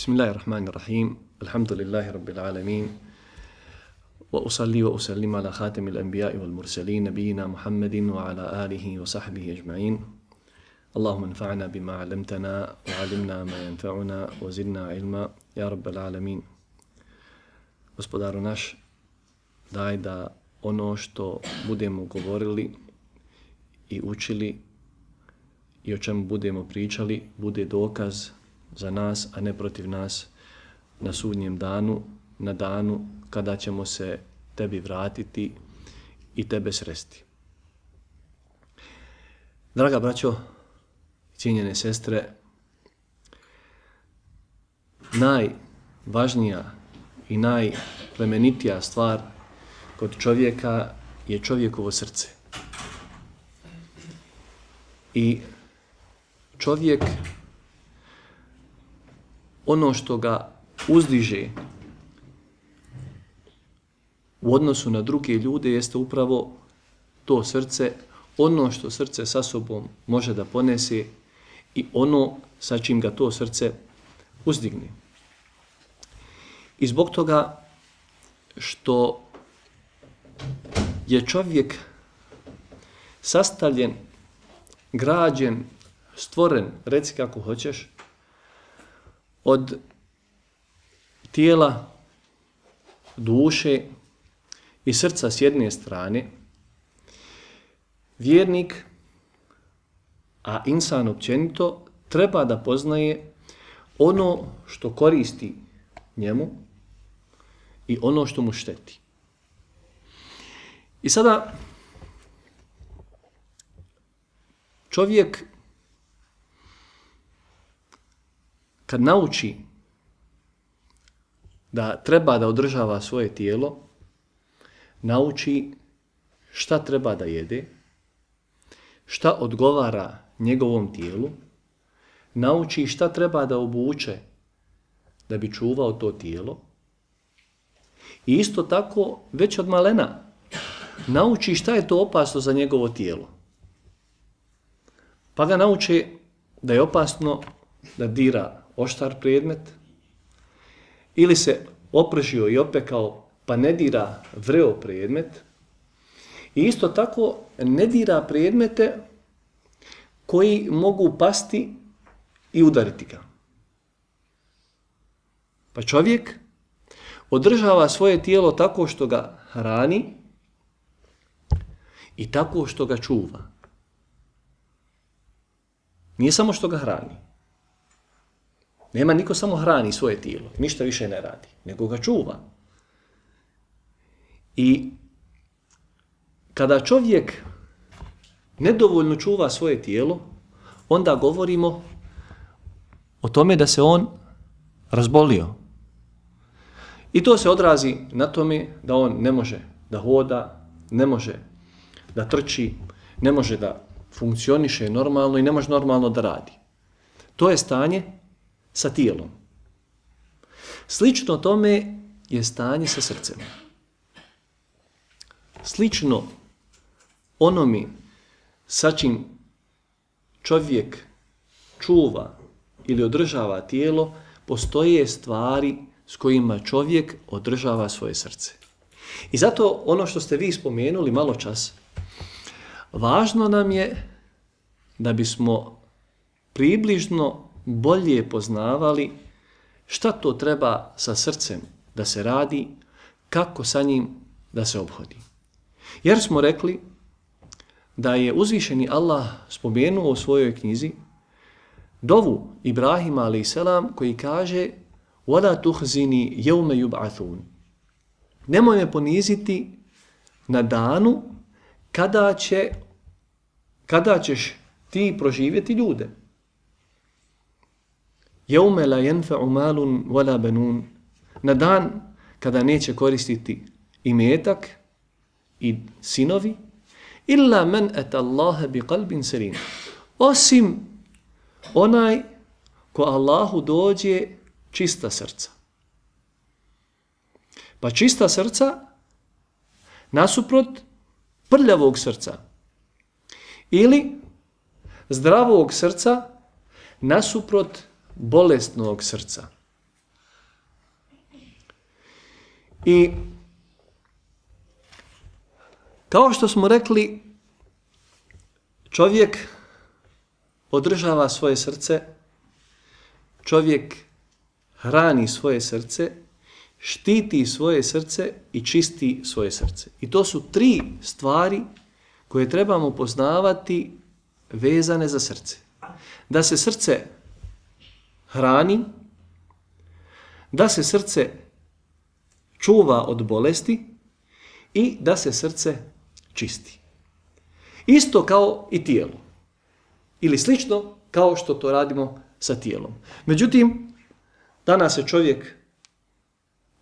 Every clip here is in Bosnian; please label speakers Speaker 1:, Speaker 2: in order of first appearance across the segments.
Speaker 1: Bismillahirrahmanirrahim. Alhamdulillahi rabbil alamin. Wa usalli wa usallim ala khatamil anbiya'i wal mursalin nabiyina Muhammadin wa ala alihi wa sahbihi ajma'in. Allahumma anfa'na bima 'allamtana wa 'allimna ma yanfa'una wa zidna ilma ya rabbal alamin. Gospodaru naš, daj da ono što budemo govorili i učili i o čemu budemo pričali bude dokaz za nas, a ne protiv nas na sudnjem danu, na danu kada ćemo se tebi vratiti i tebe sresti. Draga braćo, cijenjene sestre, najvažnija i najplemenitija stvar kod čovjeka je čovjekovo srce. I čovjek, ono što ga uzdiže u odnosu na druge ljude jeste upravo to srce, ono što srce sa sobom može da ponese i ono sa čim ga to srce uzdigne. I zbog toga što je čovjek sastavljen, građen, stvoren, reci kako hoćeš, od tijela, duše i srca s jedne strane, vjernik, a insan općenito, treba da poznaje ono što koristi njemu i ono što mu šteti. I sada čovjek kad nauči da treba da održava svoje tijelo, nauči šta treba da jede, šta odgovara njegovom tijelu, nauči šta treba da obuče da bi čuvao to tijelo i isto tako već od malena nauči šta je to opasno za njegovo tijelo. Pa ga nauče da je opasno da dira oštar predmet ili se opržio i opekao pa ne dira vreo predmet i isto tako ne dira predmete koji mogu pasti i udariti ga. Pa čovjek održava svoje tijelo tako što ga hrani i tako što ga čuva. Nije samo što ga hrani. Nema niko samo hrani svoje tijelo, ništa više ne radi, nego ga čuva. I kada čovjek nedovoljno čuva svoje tijelo, onda govorimo o tome da se on razbolio. I to se odrazi na tome da on ne može da hoda, ne može da trči, ne može da funkcioniše normalno i ne može normalno da radi. To je stanje sa tijelom. Slično tome je stanje sa srcem. Slično onome sa čim čovjek čuva ili održava tijelo, postoje stvari s kojima čovjek održava svoje srce. I zato ono što ste vi spomenuli malo čas, važno nam je da bismo približno bolje poznavali šta to treba sa srcem da se radi, kako sa njim da se ophodi. Jer smo rekli da je uzvišeni Allah spomenuo u svojoj knjizi dovu Ibrahima a.s. koji kaže وَلَا تُخْزِنِي يَوْمَ يُبْعَثُونَ. Nemoj me poniziti na danu kada ćeš ti proživjeti ljude. يَوْمَ لَا يَنْفَعُ مَالٌ وَلَا بَنُونَ. Na dan kada neće koristiti imetak i sinovi, إِلَّا مَنْ أَتَى اللَّهَ بِقَلْبٍ سَلِيمٍ. Osim onaj ko Allahu dođe čista srca. Pa čista srca nasuprot prljavog srca ili zdravog srca nasuprot bolesnog srca. I kao što smo rekli, čovjek održava svoje srce, čovjek hrani svoje srce, štiti svoje srce i čisti svoje srce. I to su 3 stvari koje trebamo poznavati vezane za srce. Da se srce hrani, da se srce čuva od bolesti i da se srce čisti. Isto kao i tijelo. Ili slično kao što to radimo sa tijelom. Međutim, danas se čovjek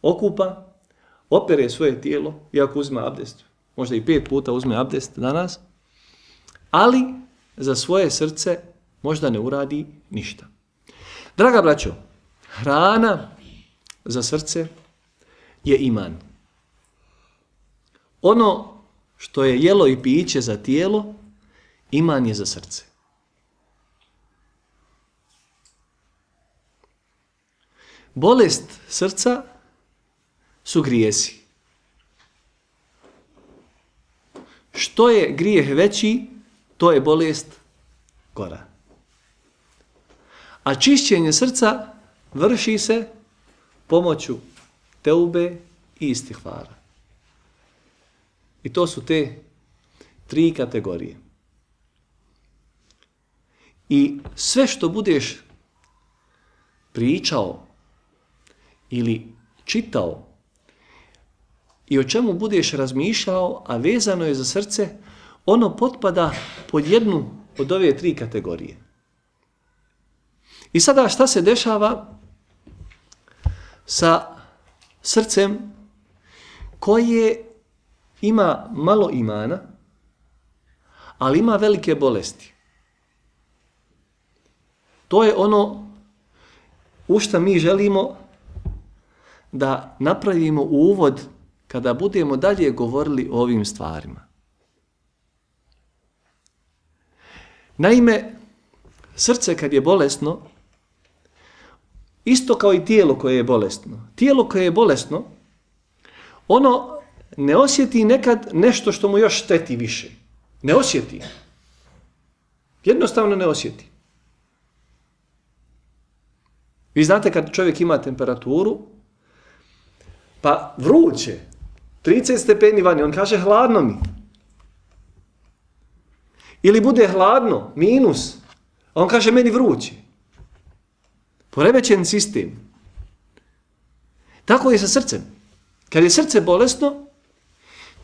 Speaker 1: okupa, opere svoje tijelo, iako uzme abdest, možda i 5 puta uzme abdest danas, ali za svoje srce možda ne uradi ništa. Draga braćo, hrana za srce je iman. Ono što je jelo i piće za tijelo, iman je za srce. Bolest srca su grijesi. Što je grijeh veći, to je bolest gora. A čišćenje srca vrši se pomoću teube i istihvara. I to su te 3 kategorije. I sve što budeš pričao ili čitao i o čemu budeš razmišljao, a vezano je za srce, ono potpada pod jednu od ove 3 kategorije. I sada šta se dešava sa srcem koje ima malo imana, ali ima velike bolesti? To je ono u što mi želimo da napravimo uvod kada budemo dalje govorili o ovim stvarima. Naime, srce kad je bolesno, isto kao i tijelo koje je bolesno. Tijelo koje je bolesno, ono ne osjeti nekad nešto što mu još šteti više. Ne osjeti. Jednostavno ne osjeti. Vi znate kad čovjek ima temperaturu, pa vruće, 30 stepeni vani, on kaže hladno mi. Ili bude hladno, minus, a on kaže meni vruće. Poremećen sistem. Tako je sa srcem. Kad je srce bolesno,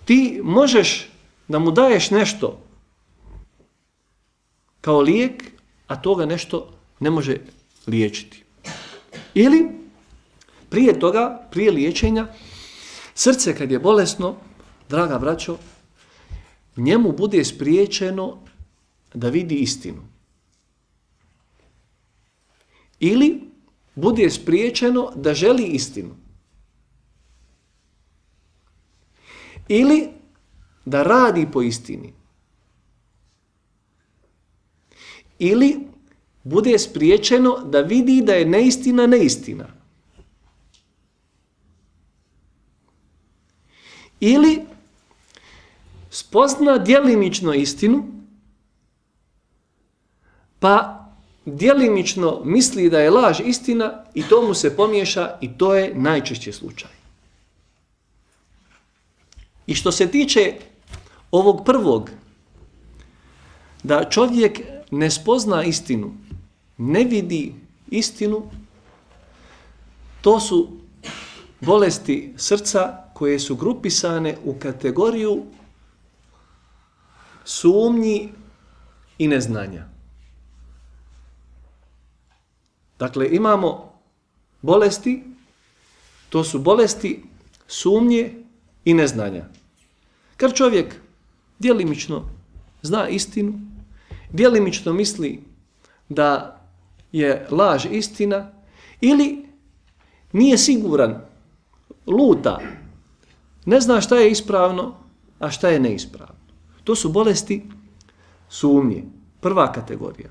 Speaker 1: ti možeš da mu daješ nešto kao lijek, a toga nešto ne može liječiti. Ili prije toga, prije liječenja, srce kad je bolesno, draga braćo, njemu bude spriječeno da vidi istinu. Ili bude spriječeno da želi istinu. Ili da radi po istini. Ili bude spriječeno da vidi da je neistina neistina. Ili spozna djelimično istinu, pa djelimično misli da je laž istina i to mu se pomiješa i to je najčešće slučaj. I što se tiče ovog prvog, da čovjek ne spozna istinu, ne vidi istinu, to su bolesti srca koje su grupisane u kategoriju sumnji i neznanja. Dakle, imamo bolesti, to su bolesti sumnje i neznanja. Kad čovjek djelimično zna istinu, djelimično misli da je laž istina ili nije siguran, luta, ne zna šta je ispravno, a šta je neispravno. To su bolesti sumnje, prva kategorija.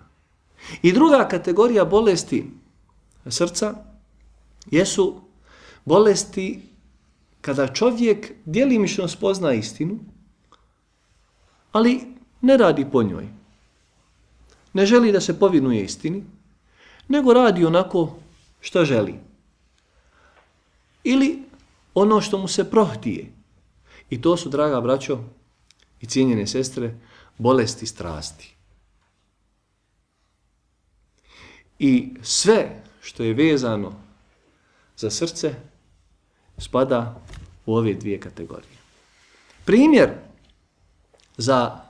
Speaker 1: I druga kategorija bolesti srca jesu bolesti kada čovjek djelimično spozna istinu, ali ne radi po njoj. Ne želi da se povinuje istini, nego radi onako što želi. Ili ono što mu se prohtije. I to su, draga braćo i cijenjene sestre, bolesti strasti. I sve što je vezano za srce spada u ove dvije kategorije. Primjer za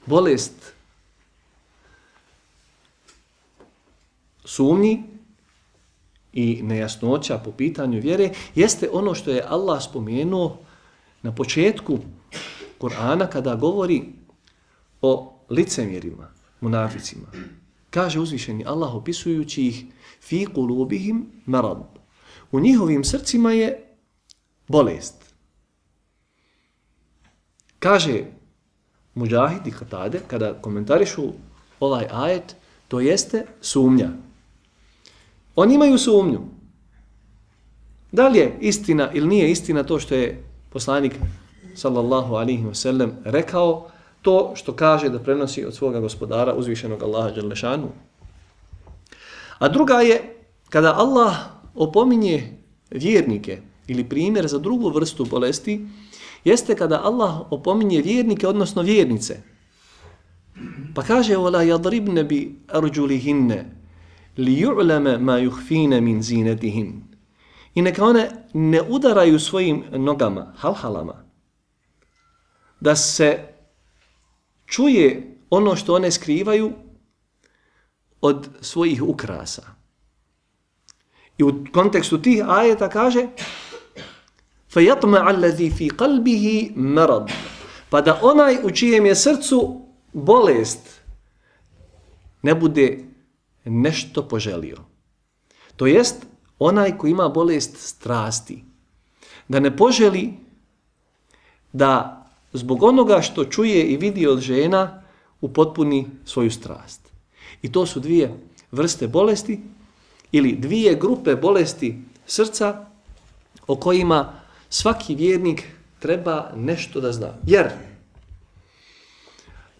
Speaker 1: bolest sumnji i nejasnoća po pitanju vjere jeste ono što je Allah spomenuo na početku Kur'ana kada govori o licemjerima, munaficima. Kaže uzvišeni Allah opisujući ih fi qulubihim marad. U njihovim srcima je bolest. Kaže Mujahid i Katade kada komentarišu ovaj ajet, to jeste sumnja. Oni imaju sumnju. Da li je istina ili nije istina to što je poslanik sallallahu alaihi wa sallam rekao, to što kaže da prenosi od svoga gospodara uzvišenog Allaha dželle šanu. A druga je kada Allah opominje vjernike ili primjer za drugu vrstu bolesti, jeste kada Allah opominje vjernike, odnosno vjernice. Pa kaže وَلَا يَضْرِبْنَ بِأَرْجُلِهِنَّ لِيُعْلَمَ مَا يُخْفِينَ مِنْ زِينَتِهِنَ. I neka one ne udaraju svojim nogama, halhalama, da se čuje ono što one skrivaju od svojih ukrasa. I u kontekstu tih ajeta kaže فَيَطْمَعَ الَّذِي فِي قَلْبِهِ مَرَض. Pa da onaj u čijem je srcu bolest ne bude nešto poželio. To jest onaj koji ima bolest strasti. Da ne poželi da zbog onoga što čuje i vidi od žena upotpuni svoju strast. I to su dvije vrste bolesti ili dvije grupe bolesti srca o kojima svaki vjernik treba nešto da zna. Jer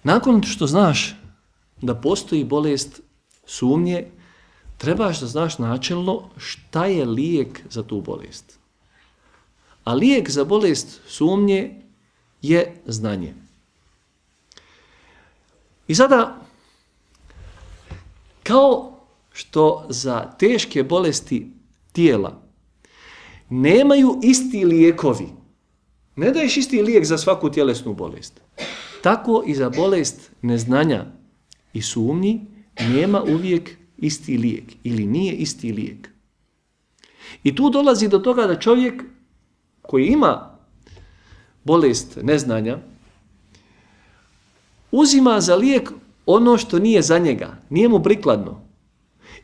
Speaker 1: nakon što znaš da postoji bolest sumnje, trebaš da znaš načelno šta je lijek za tu bolest. A lijek za bolest sumnje je znanje. I sada, kao što za teške bolesti tijela nemaju isti lijekovi, ne daješ isti lijek za svaku tjelesnu bolest, tako i za bolest neznanja i sumnji nema uvijek isti lijek ili nije isti lijek. I tu dolazi do toga da čovjek koji ima bolest neznanja uzima za lijek ono što nije za njega, nije mu prikladno.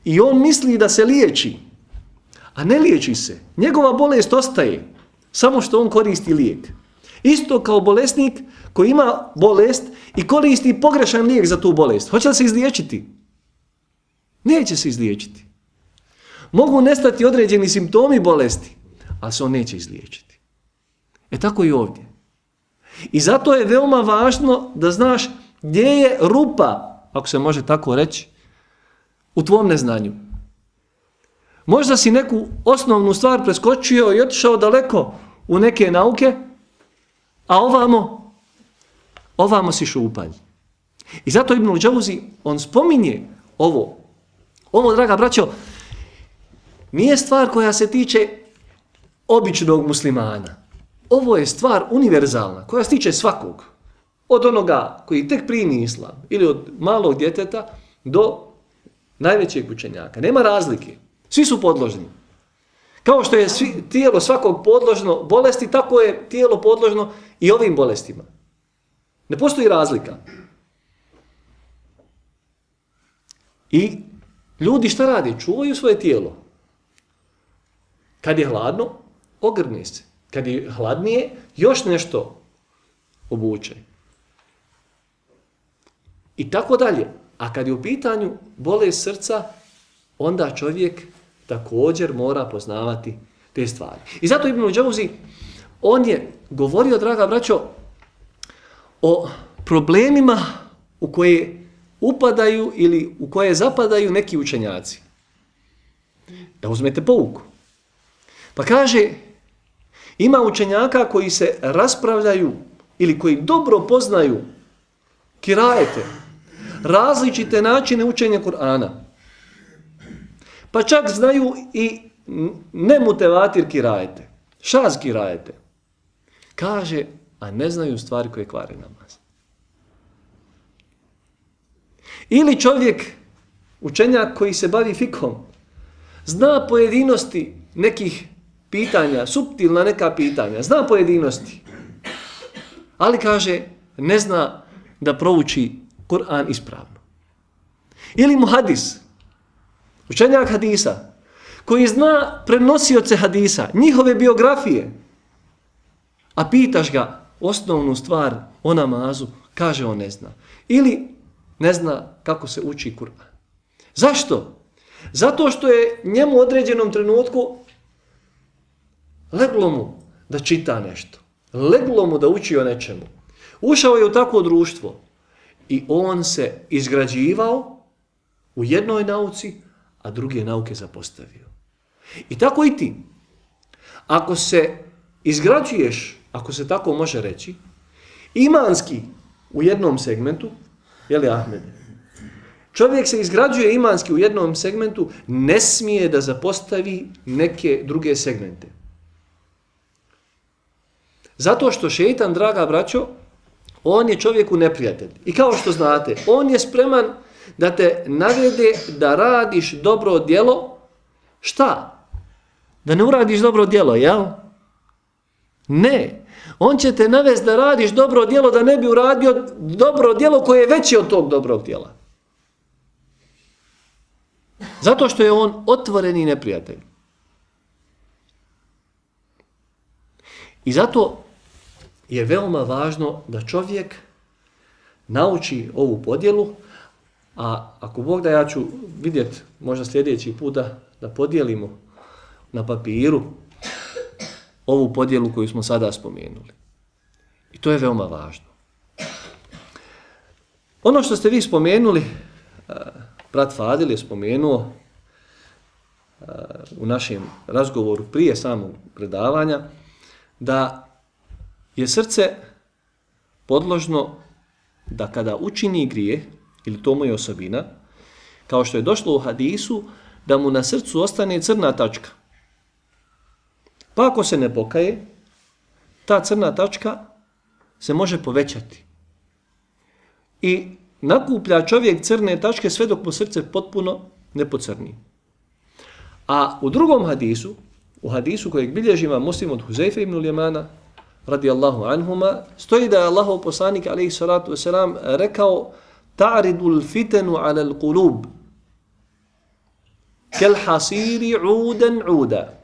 Speaker 1: I on misli da se liječi, a ne liječi se. Njegova bolest ostaje, samo što on koristi lijek. Isto kao bolesnik koji ima bolest i koristi pogrešan lijek za tu bolest. Hoće li se izliječiti? Neće se izliječiti. Mogu nestati određeni simptomi bolesti, ali se on neće izliječiti. E tako i ovdje. I zato je veoma važno da znaš gdje je rupa, ako se može tako reći, u tvom neznanju. Možda si neku osnovnu stvar preskočio i otišao daleko u neke nauke, a ovamo si šupalj. I zato Ibn Džauzi, on spominje ovo. Ovo, draga braćo, nije stvar koja se tiče običnog muslimana. Ovo je stvar univerzalna, koja se tiče svakog. Od onoga koji tek primi islam, ili od malog djeteta do najvećeg učenjaka. Nema razlike. Svi su podložni. Kao što je tijelo svakog podložno bolesti, tako je tijelo podložno i ovim bolestima. Ne postoji razlika. I ljudi šta radi? Čuvaju svoje tijelo. Kad je hladno, ogrni se. Kad je hladnije, još nešto obuče. I tako dalje. A kad je u pitanju bolest srca, onda čovjek također mora poznavati te stvari. I zato Ibn Džauzi on je govorio, draga braćo, o problemima u koje upadaju ili u koje zapadaju neki učenjaci. Da uzmete pouku. Pa kaže, ima učenjaka koji se raspravljaju ili koji dobro poznaju kirajete, različite načine učenja Kur'ana. Pa čak znaju i nemutevatir kirajete, šaz kirajete. Kaže, a ne znaju stvari koje kvare namaz. Ili čovjek, učenjak koji se bavi fikhom, zna pojedinosti nekih pitanja, suptilna neka pitanja, zna pojedinosti, ali kaže, ne zna da prouči Kur'an ispravno. Ili muhadis, učenjak hadisa, koji zna prenosioce hadisa, njihove biografije, a pitaš ga osnovnu stvar o namazu, kaže on ne zna. Ili ne zna kako se uči Kur'an. Zašto? Zato što je njemu u određenom trenutku leglo mu da čita nešto. Leglo mu da uči o nečemu. Ušao je u takvo društvo i on se izgrađivao u jednoj nauci, a druge nauke zapostavio. I tako i ti. Ako se izgrađuješ, ako se tako može reći, imanski u jednom segmentu, jeli Ahmede? Čovjek se izgrađuje imanski u jednom segmentu, ne smije da zapostavi neke druge segmente. Zato što šejtan, draga braćo, on je čovjeku neprijatelj. I kao što znate, on je spreman da te navede da radiš dobro djelo. Šta? Da ne uradiš dobro djelo, jel? Ne. On će te navesti da radiš dobro djelo, da ne bi uradio dobro djelo koje je veće od tog dobrog djela. Zato što je on otvoreni neprijatelj. I zato je veoma važno da čovjek nauči ovu podjelu, a ako Bog da, ja ću vidjeti možda sljedeći put da podijelimo na papiru ovu podjelu koju smo sada spomenuli. I to je veoma važno. Ono što ste vi spomenuli, brat Fadil je spomenuo u našem razgovoru prije samog predavanja, da je srce podložno da kada učini grije, ili to mu je osobina, kao što je došlo u hadisu, da mu na srcu ostane crna tačka. Pa ako se ne pokaje, ta crna tačka se može povećati. I nakuplja čovjek crne tačke sve dok mu srce potpuno ne pocrni. A u drugom hadisu, u hadisu kojeg bilježi imam Muslim od Huzeyfe ibn Ljemana, radijallahu anhuma, stoji da je Allahov poslanik, alejhi salatu vesselam, rekao: ta'ridul fitanu ala al-qulub kal hasiri udan uda.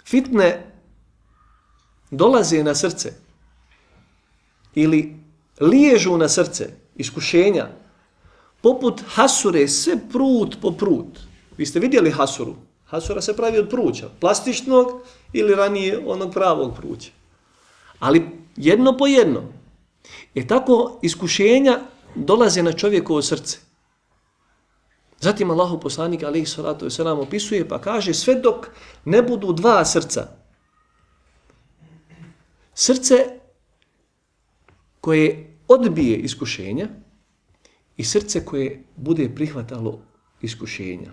Speaker 1: Fitne dolaze na srce ili liježu na srce, iskušenja, poput hasure, sve prut po prut. Vi ste vidjeli hasuru? Hasura se pravi od pruća, plastičnog ili ranije onog pravog pruća. Ali jedno po jedno. Tako iskušenja dolaze na čovjekovo srce. Zatim Allahov poslanik, alejhi salatu vesselam, opisuje pa kaže sve dok ne budu dva srca. Srce koje odbije iskušenja i srce koje bude prihvatalo iskušenja.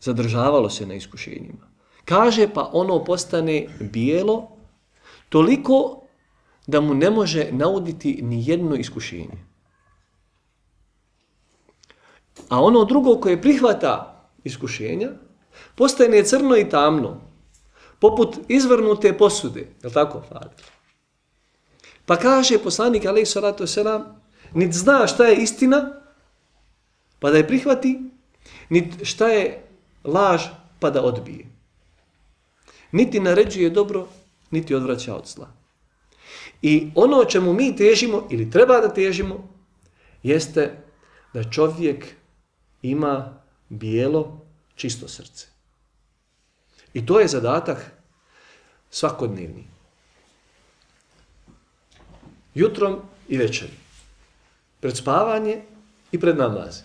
Speaker 1: Zadržavalo se na iskušenjima. Kaže pa ono postane bijelo toliko da mu ne može nauditi ni jedno iskušenje. A ono drugo koje prihvata iskušenja postane crno i tamno, poput izvrnute posude. Je li tako, Fadil? Pa kaže poslanik, alejhi salatu vesselam, niti zna šta je istina, pa da je prihvati, niti šta je laž, pa da odbije. Niti naređuje dobro, niti odvraća od zla. I ono o čemu mi težimo, ili treba da težimo, jeste da čovjek ima bijelo, čisto srce. I to je zadatak svakodnevni. Jutrom i večeri. Pred spavanje i pred namaz.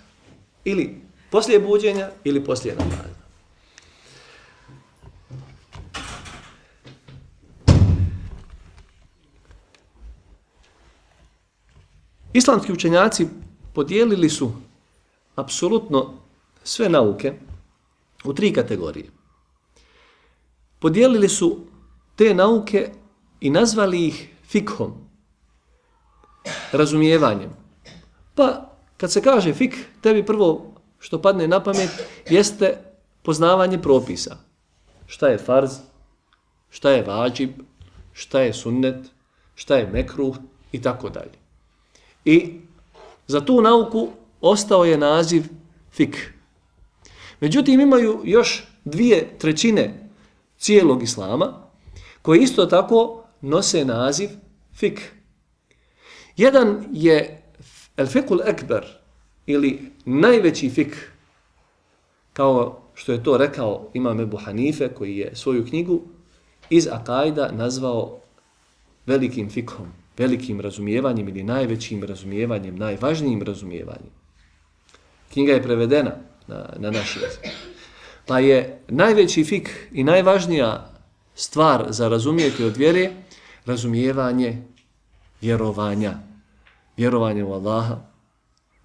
Speaker 1: Ili poslije buđenja ili poslije namaza. Islamski učenjaci podijelili su apsolutno sve nauke u 3 kategorije. Podijelili su te nauke i nazvali ih fikhom, razumijevanjem. Pa kad se kaže fik, tebi prvo što padne na pamet jeste poznavanje propisa. Šta je farz, šta je vađib, šta je sunnet, šta je mekruh i tako dalje. I za tu nauku ostao je naziv fik. Međutim, imaju još 2/3 cijelog islama koji isto tako nose naziv fik. Jedan je el-fikul ekber ili najveći fik, kao što je to rekao imam Ebu Hanife koji je svoju knjigu iz akajda nazvao velikim fikhom, velikim razumijevanjem ili najvećim razumijevanjem, najvažnijim razumijevanjem. Knjiga je prevedena na naš jezik. Pa je najveći fik i najvažnija stvar za razumijeti od vjere razumijevanje vjerovanja. Vjerovanje u Allaha,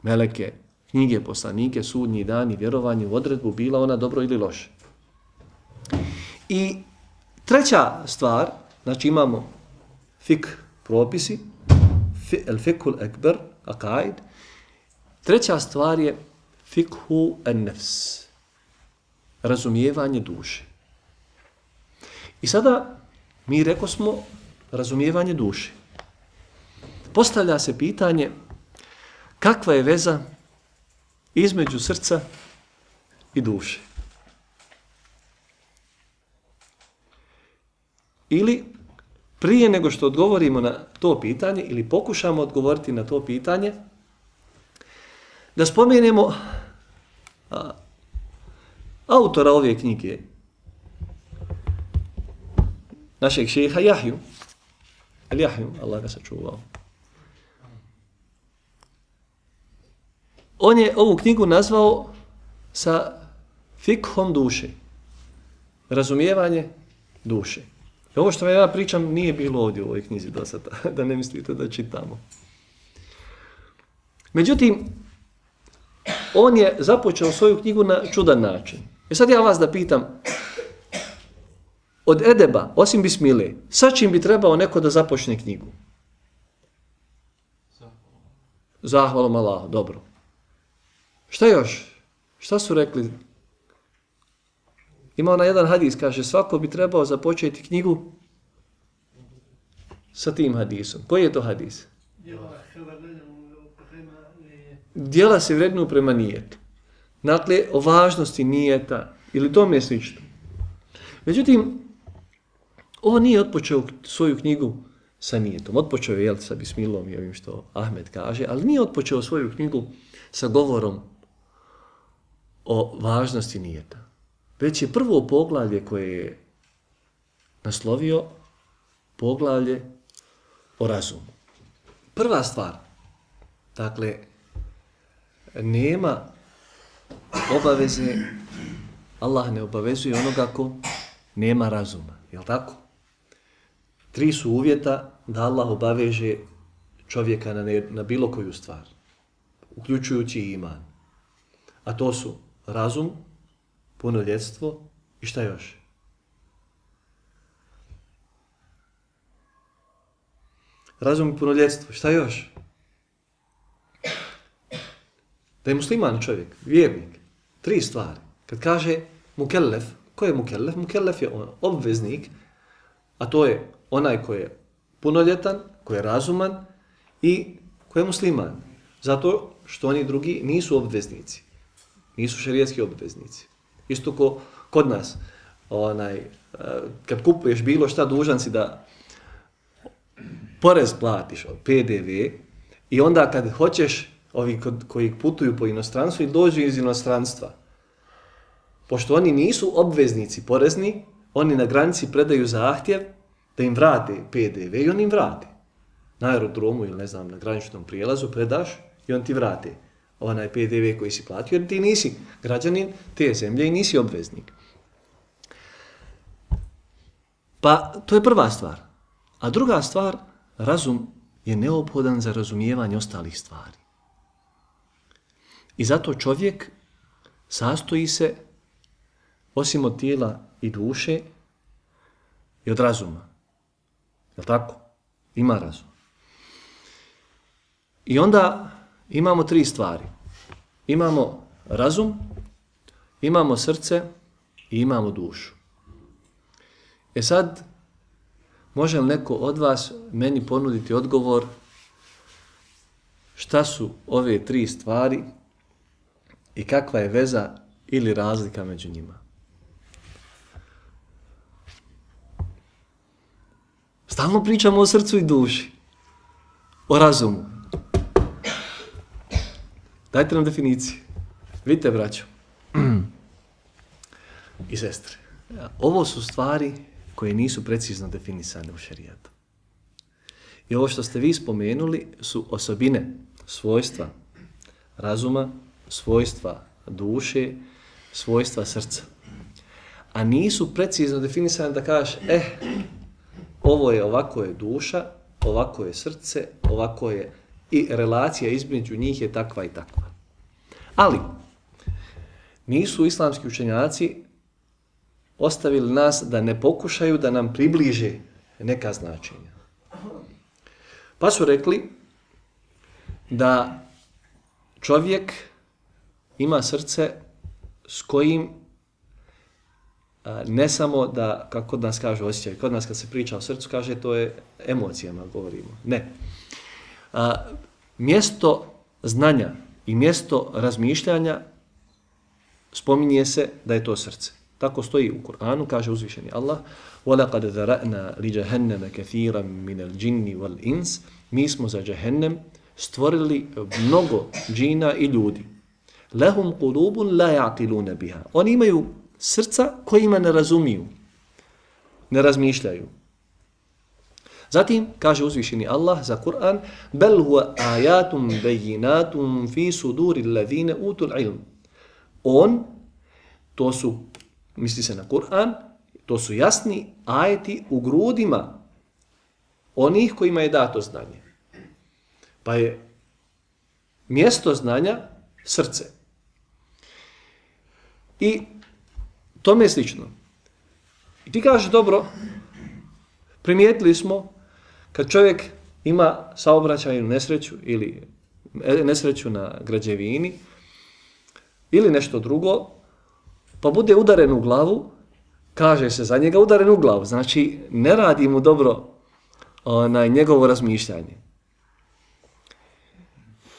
Speaker 1: meleke, knjige, poslanike, sudnji dan i vjerovanje u odredbu, bila ona dobro ili loše. I treća stvar, znači imamo fik propisi, el-fikul ekber, akaid. Treća stvar je fikhu en-nefs, razumijevanje duše. I sada mi reko smo razumijevanje duše. Postavlja se pitanje kakva je veza između srca i duše. Ili prije nego što odgovorimo na to pitanje ili pokušamo odgovoriti na to pitanje, da spomenemo autora ove knjige, našeg šeha Jahju, Allah ga sačuvao. On je ovu knjigu nazvao sa fikhom duše, razumijevanje duše. I ovo što ja pričam nije bilo ovdje u ovoj knjizi do sada, da ne mislite da čitamo. Međutim, on je započeo svoju knjigu na čudan način. I sad ja vas da pitam, od edeba, osim bismile, sa čim bi trebao neko da započne knjigu? Zahvalom Allahu, dobro. Šta još? Šta su rekli? Ima ona jedan hadis, kaže, svako bi trebao započeti knjigu sa tim hadisom. Koji je to hadis? Djela se vrednuju prema nijetu. Dakle, o važnosti nijeta ili tome je slično. Međutim, on nije otpočeo svoju knjigu sa nijetom. Otpočeo je sa bismilom i ovim što Ahmed kaže, ali nije otpočeo svoju knjigu sa govorom o važnosti nijeta. Već je prvo poglavlje koje je naslovio poglavlje o razumu. Prva stvar, dakle, nema obaveze, Allah ne obavezuje onoga ko nema razuma, jel tako? 3 su uvjeta da Allah obaveže čovjeka na bilo koju stvar, uključujući i iman. A to su razum, punoljetstvo i šta još? Razum i punoljetstvo, šta još? Da je musliman čovjek, vjernik. 3 stvari. Kad kaže mukellef, ko je mukellef? Mukellef je obveznik, a to je onaj ko je punoljetan, ko je razuman i ko je musliman. Zato što oni drugi nisu obveznici. Nisu šerijatski obveznici. Isto ko kod nas, kad kupuješ bilo šta, dužan si da porez platiš, PDV, i onda kad hoćeš, ovi koji putuju po inostranstvu i dođu iz inostranstva, pošto oni nisu obveznici porezni, oni na granici predaju zahtjev da im vrate PDV i oni im vrate. Na aerodromu ili ne znam, na graničnom prijelazu predaš i on ti vrate onaj PDV koji si platio jer ti nisi građanin te zemlje i nisi obveznik. Pa to je prva stvar. A druga stvar, razum je neophodan za razumijevanje ostalih stvari. I zato čovjek sastoji se, osim od tijela i duše, i od razuma. Je li tako? Ima razum. I onda imamo tri stvari. Imamo razum, imamo srce i imamo dušu. E sad, može li neko od vas meni ponuditi odgovor šta su ove tri stvari i kakva je veza ili razlika među njima? Stalno pričamo o srcu i duši, o razumu. Dajte nam definiciju. Vidite, braćo i sestre, ovo su stvari koje nisu precizno definisane u šerijatu. I ovo što ste vi spomenuli su osobine, svojstva razuma, svojstva duše, svojstva srca. A nisu precizno definisane da kažeš, ovo je ovako je duša, ovako je srce, ovako je i relacija između njih je takva i takva. Ali nisu islamski učenjaci ostavili nas da ne pokušaju da nam približe neka značenja. Pa su rekli da čovjek ima srce s kojim ne samo da, kako kod nas kaže osjećaj, kod nas kad se priča o srcu kaže to je emocijama govorimo. Ne. Mjesto znanja i mjesto razmišljanja spominje se da je to srce. Tako stoji u Kur'anu, kaže uzvišeni Allah: وَلَقَدْ ذَرَأْنَا لِجَهَنَّمَ كَثِيرًا مِنَ الْجِنِّ وَالْإِنسِ Mi smo za Džehennem stvorili mnogo džina i ljudi. لَهُمْ قُلُوبٌ لَا يَعْقِلُونَ بِهَا Oni imaju srca kojima ne razumiju, ne razmišljaju. Zatim kaže uzvišeni Allah za Kur'an: بَلْ هُوَ آيَاتٌ بَيِّنَاتٌ فِي صُدُورِ الَّذِينَ أُوتُوا الْعِلْمِ To su, misli se na Kur'an, to su jasni ajeti u grudima onih kojima je dato znanje. Pa je mjesto znanja srce. I tome je slično. I ti kažeš, dobro, primijetili smo kad čovjek ima saobraćajnu nesreću ili nesreću na građevini ili nešto drugo, pa bude udaren u glavu, kaže se za njega udaren u glavu, znači ne radi mu dobro njegovo razmišljanje.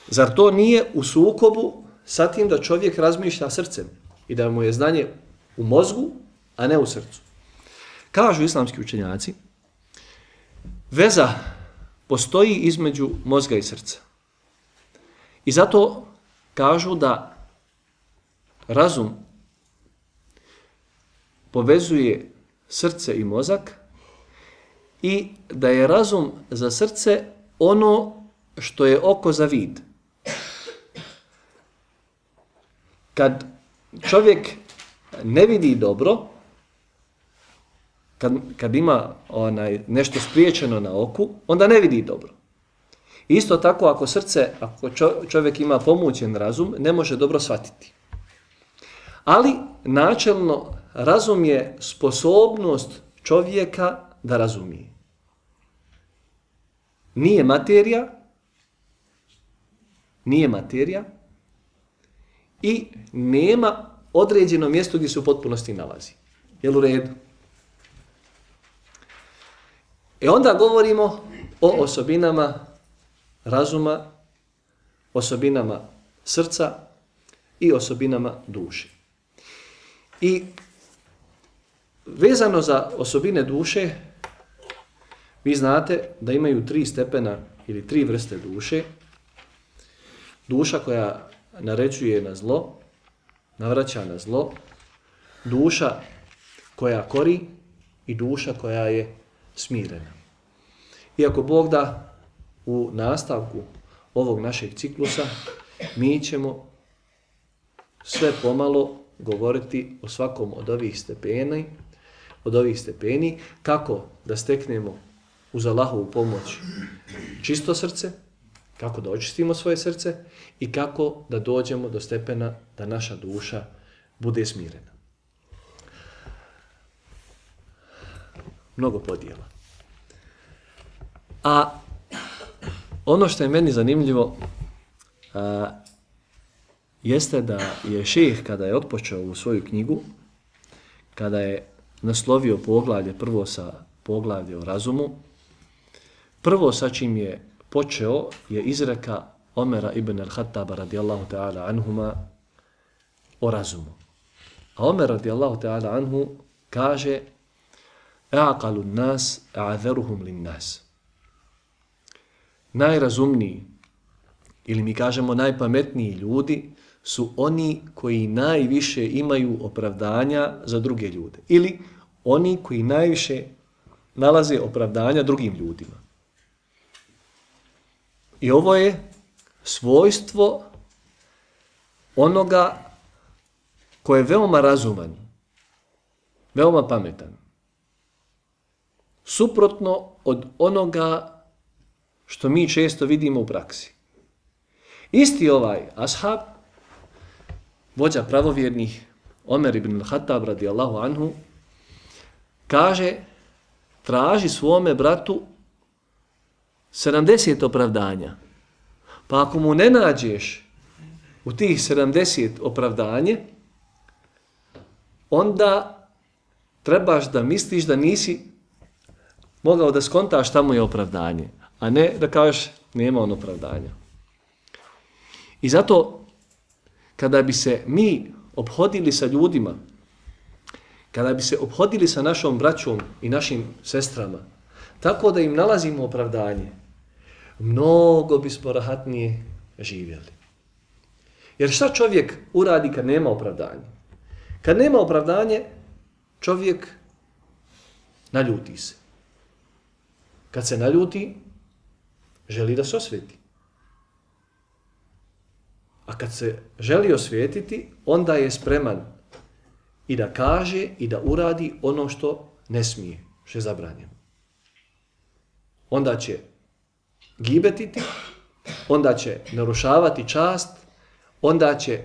Speaker 1: Zar to nije u sukobu sa tim da čovjek razmišlja srcem i da mu je znanje u mozgu, a ne u srcu? Kažu islamski učenjaci, veza postoji između mozga i srca. I zato kažu da razum povezuje srce i mozak i da je razum za srce ono što je oko za vid. Kad čovjek ne vidi dobro, kad ima nešto spriječeno na oku, onda ne vidi dobro. Isto tako ako čovjek ima pomućen razum, ne može dobro shvatiti. Ali načelno razum je sposobnost čovjeka da razumije. Nije materija i nema određeno mjesto gdje se u potpunosti nalazi. Jel u redu? Onda govorimo o osobinama razuma, osobinama srca i osobinama duše. I vezano za osobine duše, vi znate da imaju 3 stepena ili 3 vrste duše. Duša koja naređuje na zlo, navraća na zlo, duša koja kori i duša koja je smirena. Iako Bog da u nastavku ovog našeg ciklusa mi ćemo sve pomalo govoriti o svakom od ovih stepeni, kako da steknemo uz Allahovu pomoć čisto srce, kako da očistimo svoje srce i kako da dođemo do stepena da naša duša bude smirena. Mnogo podjela. A ono što je meni zanimljivo jeste da je šejh kada je otpočeo u svoju knjigu, kada je naslovio poglavlje prvo sa poglavlje o razumu, prvo sa čim je počeo je izreka Omera ibn al-Khattaba radijallahu ta'ala anhuma o razumu. A Omer radijallahu ta'ala anhu kaže A'qalu nas a'adharuhum lin nas. Najrazumniji, ili mi kažemo najpametniji ljudi, su oni koji najviše imaju opravdanja za druge ljude. Ili oni koji najviše nalaze opravdanja drugim ljudima. I ovo je svojstvo onoga ko je veoma razuman, veoma pametan. Suprotno od onoga što mi često vidimo u praksi. Isti ovaj ashab, vođa pravovjernih, Omer ibn al-Khattab radijallahu anhu, kaže, traži svome bratu 70 opravdanja. Pa ako mu ne nađeš u tih 70 opravdanje, onda trebaš da misliš da nisi mogao da skontaš šta mu je opravdanje, a ne da kažeš nema on opravdanja. I zato, kada bi se mi ophodili sa ljudima, kada bi se ophodili sa našom braćom i našim sestrama, tako da im nalazimo opravdanje, mnogo bismo rahatnije živjeli. Jer šta čovjek uradi kad nema opravdanje? Kad nema opravdanje, čovjek naljuti se. Kad se naljuti, želi da se osveti. A kad se želi osvijetiti, onda je spreman i da kaže i da uradi ono što ne smije, što je zabranjeno. Onda će gibetiti, onda će narušavati čast, onda će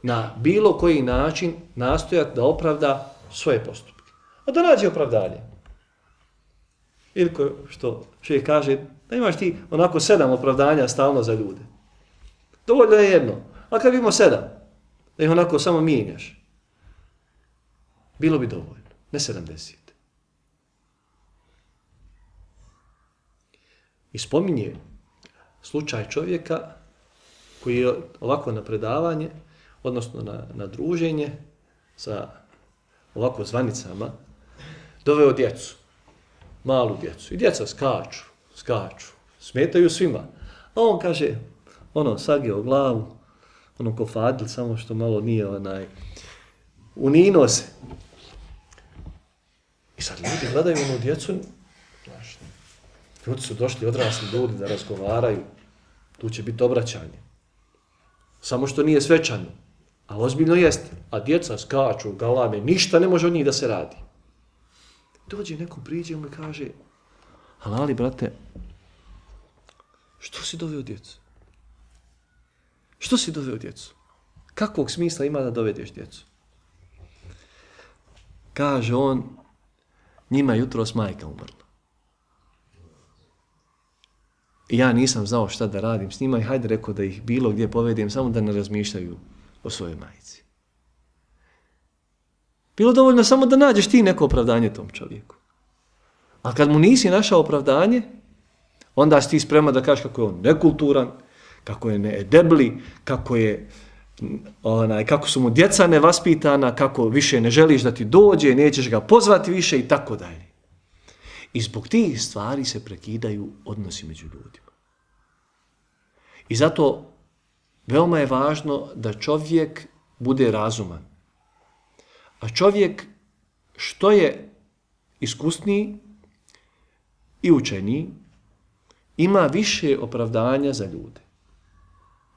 Speaker 1: na bilo koji način nastojati da opravda svoje postupke. A da nađe opravdanje. Ili što čovjek kaže, da imaš ti onako 7 opravdanja stalno za ljude. Dovoljno je jedno. A kad imamo 7, da ih onako samo mijenjaš, bilo bi dovoljno. Ne 70. I spominje slučaj čovjeka koji je ovako na predavanje, odnosno na druženje sa ovako zvanicama, doveo djecu, malu djecu. I djeca skaču, smetaju svima. A on kaže, sagio glavu, ko Fadil, samo što malo nije unino se. I sad ljudi gledaju djecu, ljudi su došli, odrasli ljudi da razgovaraju, tu će biti obraćanje. Samo što nije svečano, a ozbiljno jeste. A djeca skaču, galame, ništa ne može od njih da se radi. Dođe nekom, priđe mu i kaže, ali brate, što si doveo djecu? Što si doveo djecu? Kakvog smisla ima da dovedeš djecu? Kaže on, njima jutros majka umrla. I ja nisam znao šta da radim s njima i hajde rekao da ih bilo gdje povedem, samo da ne razmišljaju o svojoj majici. Bilo dovoljno samo da nađeš ti neko opravdanje tom čovjeku. A kad mu nisi našao opravdanje, onda si ti spreman da kažeš kako je on nekulturan, kako je needebli, kako su mu djeca nevaspitana, kako više ne želiš da ti dođe, nećeš ga pozvati više i tako dalje. I zbog tih stvari se prekidaju odnosi među ljudima. I zato veoma je važno da čovjek bude razuman. A čovjek što je iskusniji i učeniji ima više opravdanja za ljude.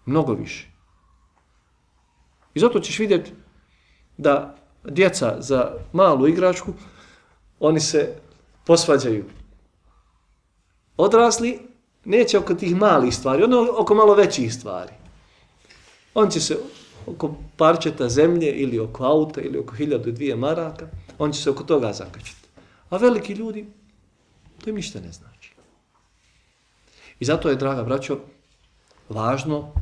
Speaker 1: Mnogo više. I zato ćeš vidjeti da djeca za malu igračku, oni se posvađaju. Odrasli neće oko tih malih stvari, ono oko malo većih stvari. On će se oko parčeta zemlje ili oko auta ili oko 1002 maraka, on će se oko toga zakačiti. A veliki ljudi, to im ništa ne znači. I zato je, draga braćo, važno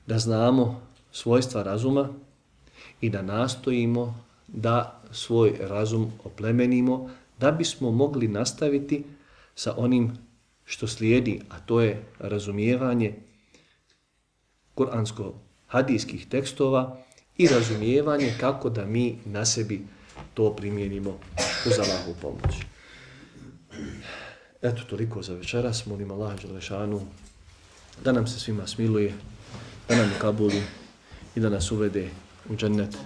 Speaker 1: da znamo svojstva razuma i da nastojimo da svoj razum oplemenimo, da bismo mogli nastaviti sa onim što slijedi, a to je razumijevanje kuransko-hadijskih tekstova i razumijevanje kako da mi na sebi to primijenimo uz Allahovu pomoć. Eto, toliko za večeras. Molim Allaha dželešanu da nam se svima smiluje, da nam kabuli i da nas uvede u džennet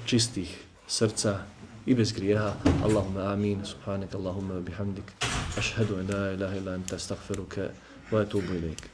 Speaker 1: čistih srca i bez grijeha. Allahumma amin. Subhanak Allahumma bihamdik. Ašhedu en la ilaha illa anta astaghfiruka wa atubu ilaik.